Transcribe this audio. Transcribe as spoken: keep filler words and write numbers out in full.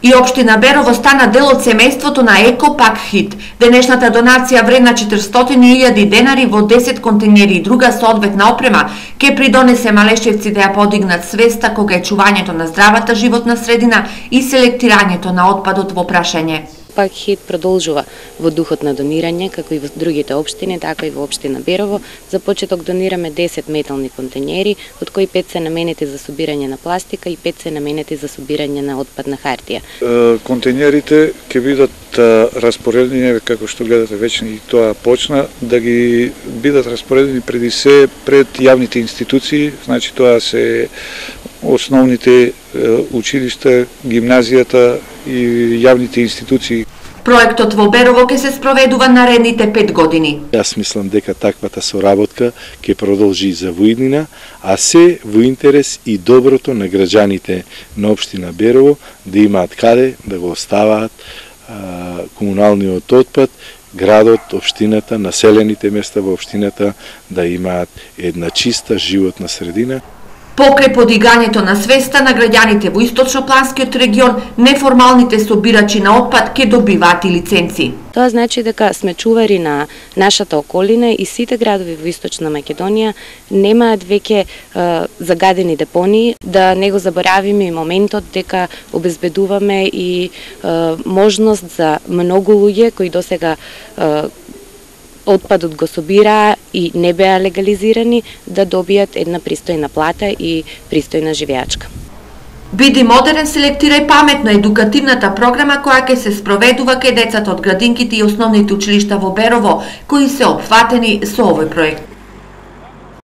И општина Берово стана дел од семејството на Еко Пак Хит. Денешната донација вредна четиристотини илјади денари во десет контейнери и друга соодветна опрема ќе придонесе малешевци да ја подигнат свеста кога е чувањето на здравата животна средина и селектирањето на отпадот во прашање. Пак Хит продолжува во духот на донирање, како и во другите општини, така и во општина Берово. За почеток донираме десет метални контейнери, од кои пет се наменети за собирање на пластика и пет се наменети за собирање на отпадна хартија. Контейнерите ќе бидат распоредени, како што гледате веќе и тоа почна, да ги бидат распоредени преди се пред јавните институции, значи тоа се основните училишта, гимназијата и јавните институции. Проектот во Берово ќе се спроведува наредните пет години. Јас мислам дека таквата соработка ќе продолжи за воиднина, а се во интерес и доброто на граѓаните на општина Берово да имаат каде да го оставаат а, комуналниот отпад, градот, општината, населените места во општината да имаат една чиста животна средина. Покрај подигањето на свеста на граѓаните во источнопланскиот регион, неформалните собирачи на отпад ќе добиваат и лиценци. Тоа значи дека сме чувари на нашата околина и сите градови во Источна Македонија немаат веќе е, загадени депонии, да не го заборавиме и моментот дека обезбедуваме и е, можност за многу луѓе кои досега е, отпадот го собираа и не беа легализирани да добијат една пристојна плата и пристојна живеачка. Биди модерен, селектирај паметно едукативната програма која ќе се спроведува кај децата од градинките и основните училишта во Берово, кои се опфатени со овој проект.